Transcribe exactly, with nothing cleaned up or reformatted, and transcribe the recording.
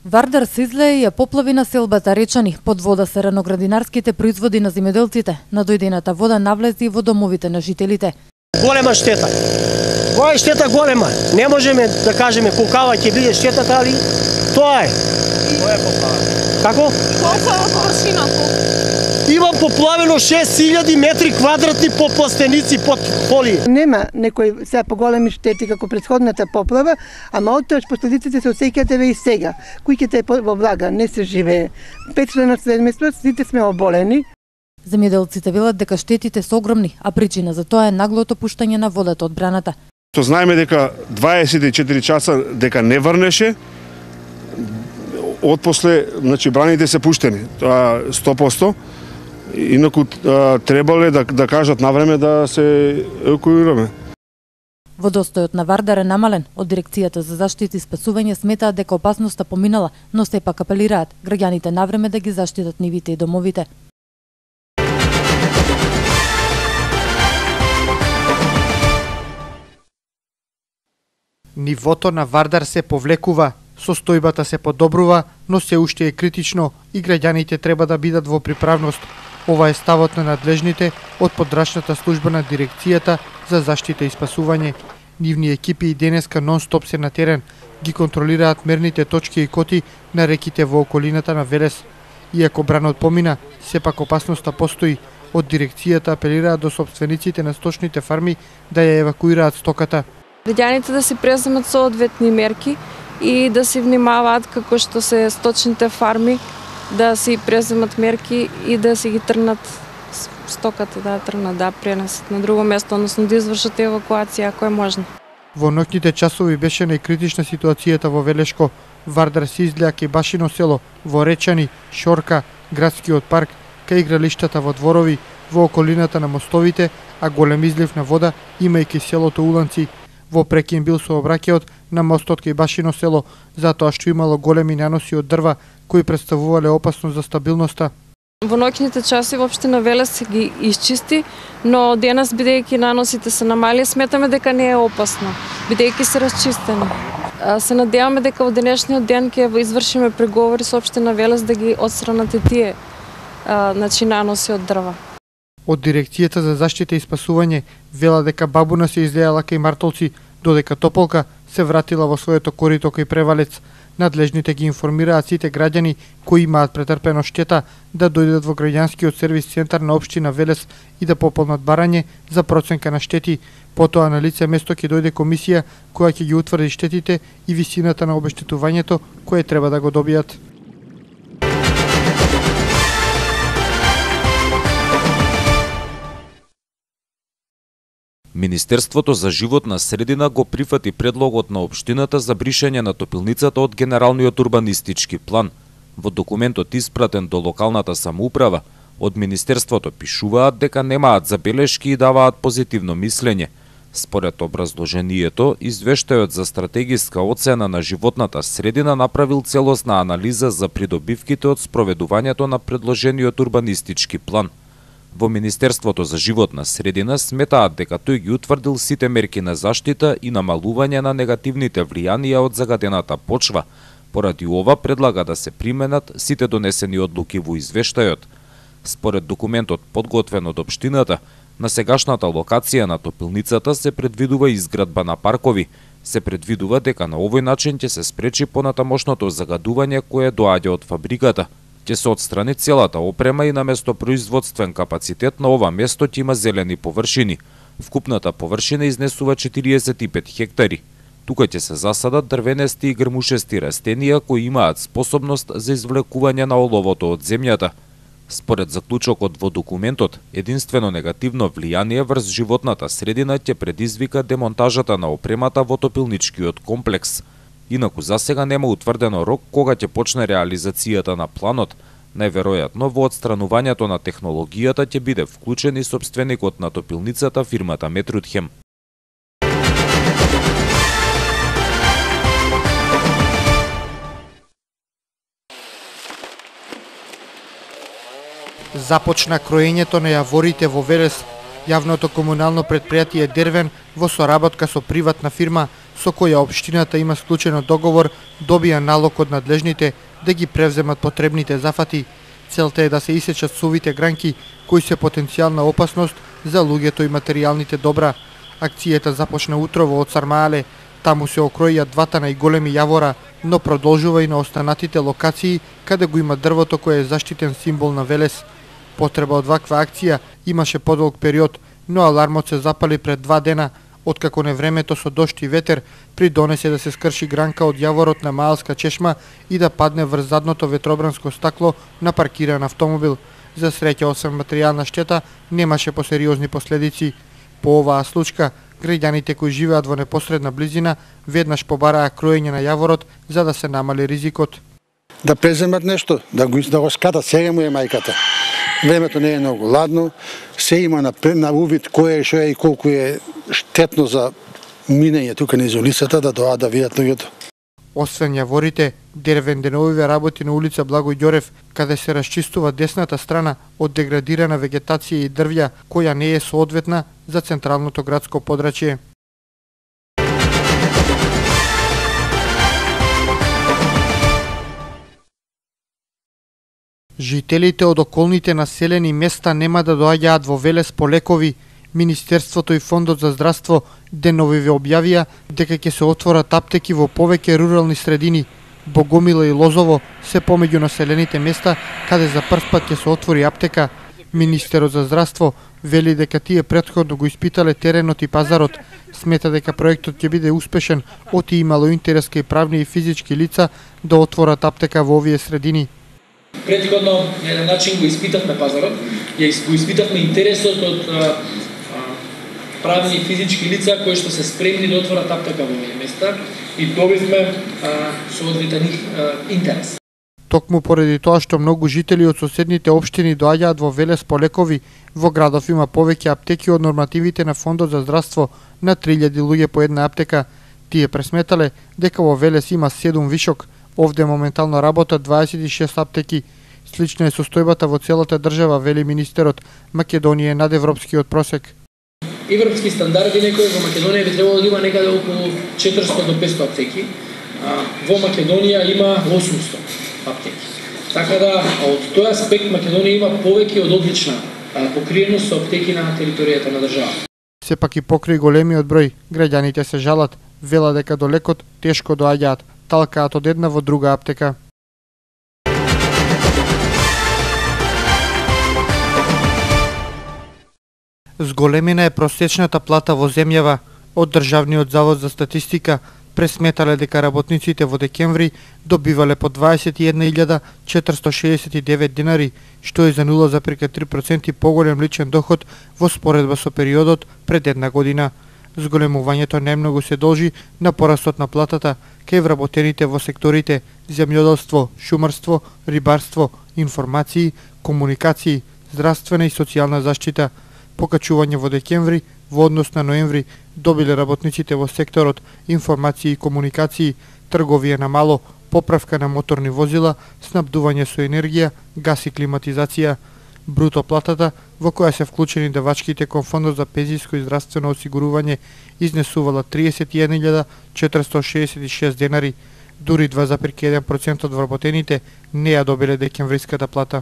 Вардар се излее и ја поплави населбата Речани. Под вода се раноградинарските производи на земјоделците. Надојдената вода навлезе и во домовите на жителите. Голема штета. Ова е штета голема. Не можеме да кажеме колкава ќе биде штетата, али тоа е. Тоа е поплава. Како? Колку е површина? Има поплавено шест илјади метри квадратни по пластеници под поли. Нема некои сега поголеми штети како претходната поплава, ама од тоа последиците се осеќаат еве и сега. Куќите во влага не се живее. Петчлено семејство, сите сме оболени. Земјоделците велат дека штетите се огромни, а причина за тоа е наглото пуштање на водата од браната. То знаеме дека дваесет и четири часа дека не врнеше, отпосле, значи браните се пуштени, тоа сто проценти. Инаку требале да, да кажат на време да се евакуираме. Водостојот на Вардар е намален. Од дирекцијата за заштита и спасување сметаат дека опасноста поминала, но сепак апелираат граѓаните на време да ги заштитат нивите и домовите. Нивото на Вардар се повлекува, состојбата се подобрува, но се уште е критично и граѓаните треба да бидат во приправност. Ова е ставот на надлежните од подрачната служба на дирекцијата за заштита и спасување. Нивни екипи и денеска нон-стоп се на терен, ги контролираат мерните точки и коти на реките во околината на Велес. Иако бранот помина, сепак опасноста постои. Од дирекцијата апелираат до сопствениците на сточните фарми да ја евакуираат стоката. Граѓаните да се преземат соодветни мерки и да се внимаваат како што се сточните фарми, да си преземат мерки и да си ги трнат стоката, да трнат, да пренесат на друго место, односно да извршат евакуација ако е можно. Во ноќните часови беше најкритична ситуацијата во Велешко, Вардар се излеа кај Башино село, во Речани, Шорка, градскиот парк, кај игралиштата во дворови, во околината на мостовите, а голем излив на вода има и кај селото Уланци. Во прекин бил сообраќајот на мостот кај Башино село, затоа што имало големи наноси од дрва кои представувале опасност за стабилноста. Во ноќните часи воопште на Велес се ги изчисти, но денес бидејќи наносите се намали, сметаме дека не е опасно, бидејќи се расчистени. Се надеваме дека во денешниот ден ќе извршиме преговори со општина Велес да ги отстранат и тие значи наноси од дрва. Од дирекцијата за заштита и спасување вела дека бабуна се излеала кај Мартолци, додека Тополка се вратила во своето корито кај Превалец. Надлежните ги информираат сите граѓани кои имаат претрпено штета да дојдат во граѓанскиот сервис центар на општина Велес и да пополнат барање за проценка на штети. Потоа на лице место ќе дојде комисија која ќе ги утврди штетите и висината на обештетувањето кое треба да го добијат. Министерството за животна средина го прифати предлогот на општината за бришење на топилницата од генералниот урбанистички план. Во документот испратен до локалната самоуправа, од Министерството пишуваат дека немаат забелешки и даваат позитивно мислење. Според образложението, извештајот за стратегиска оцена на животната средина направил целосна анализа за придобивките од спроведувањето на предложениот урбанистички план. Во Министерството за животна средина сметаат дека тој ги утврдил сите мерки на заштита и намалување на негативните влијанија од загадената почва. Поради ова предлага да се применат сите донесени одлуки во извештајот. Според документот подготвен од општината, на сегашната локација на топилницата се предвидува изградба на паркови. Се предвидува дека на овој начин ќе се спречи понатамошното загадување кое доаѓа од фабриката. Ќе се отстрани целата опрема и наместо производствен капацитет на ова место ќе има зелени површини. Вкупната површина изнесува четириесет и пет хектари. Тука ќе се засадат дрвенести и грмушести растенија кои имаат способност за извлекување на оловото од земјата. Според заклучокот во документот, единствено негативно влијание врз животната средина ќе предизвика демонтажата на опремата во топилничкиот комплекс. Инаку засега нема утврдено рок кога ќе почне реализацијата на планот. Најверојатно во отстранувањето на технологијата ќе биде вклучен и сопственикот на топилницата, фирмата Метрутхем. Започна кроењето на јаворите во Велес. Јавното комунално претпријатие Дервен во соработка со приватна фирма со која општината има склучено договор, добија налог од надлежните да ги превземат потребните зафати. Целта е да се исечат сувите гранки кои се потенцијална опасност за луѓето и материјалните добра. Акцијата започна утрово од Сармаале. Таму се окроија двата најголеми јавора, но продолжува и на останатите локации каде го има дрвото кое е заштитен символ на Велес. Потреба од ваква акција имаше подолг период, но алармот се запали пред два дена, откако невремето со дожд и ветер придонесе да се скрши гранка од јаворот на Маалска чешма и да падне врз задното ветробранско стакло на паркиран автомобил. За среќа, освен материјална штета, немаше посериозни последици. По оваа случка, граѓаните кои живеат во непосредна близина веднаш побараа кроење на јаворот за да се намали ризикот. Да преземат нешто, да го, да го скатат, сега му е мајката. Времето не е многу ладно, се има на, на увид кој е, што е и колку е штетно за минење тука низ улицата, да доаат да видат луѓето. Освен јаворите, дервен деновиве работи на улица Благој Ѓорев, каде се расчистува десната страна од деградирана вегетација и дрвја, која не е соодветна за централното градско подрачје. Жителите од околните населени места нема да доаѓаат во Велес по лекови. Министерството и Фондот за здравство деновиве објавија дека ќе се отворат аптеки во повеќе рурални средини. Богомила и Лозово се помеѓу населените места каде за прв пат ќе се отвори аптека. Министерот за здравство вели дека тие претходно го испитале теренот и пазарот. Смета дека проектот ќе биде успешен, оти имало интерес кај правни и физички лица да отворат аптека во овие средини. Претходно на еден начин го испитавме пазарот, ја го испитавме интересот од а, а, правни и физички лица кои што се спремни да отворат аптека во овие места и добивме соодветен интерес. Токму поради тоа што многу жители од соседните општини доаѓаат во Велес по лекови, во градов има повеќе аптеки од нормативите на Фондот за здравство на три илјади луѓе по една аптека. Тие пресметале дека во Велес има седум вишок, овде моментално работат дваесет и шест аптеки. Слична е состојбата во целата држава, вели министерот. Македонија е над европскиот просек. Европски стандарди некои во Македонија би требало да има некаде околу четиристотини до петстотини аптеки. А, во Македонија има осумстотини аптеки. Така да, од тој аспект Македонија има повеќе од одлична покриеност со аптеки на територијата на државата. Сепак и покрај големиот број, граѓаните се жалат, вела дека до лекот тешко доаѓаат, талкаат од една во друга аптека. Зголемена е просечната плата во земјава. Од Државниот завод за статистика пресметале дека работниците во декември добивале по дваесет и една илјада четиристотини шеесет и девет динари, што е за нула зарез три проценти поголем личен доход во споредба со периодот пред една година. Зголемувањето најмногу се должи на порастот на платата кај вработените во секторите земјоделство, шумарство, рибарство, информации, комуникации, здравствена и социјална заштита. Покачување во декември во однос на ноември добиле работниците во секторот информации и комуникации, трговија на мало, поправка на моторни возила, снабдување со енергија, газ и климатизација. Бруто платата, во која се вклучени давачките кон Фондот за пензиско и здравствено осигурување, изнесувала триесет и една илјада четиристотини шеесет и шест денари. Дури два зарез еден проценти од вработените не ја добиле декемвриската плата.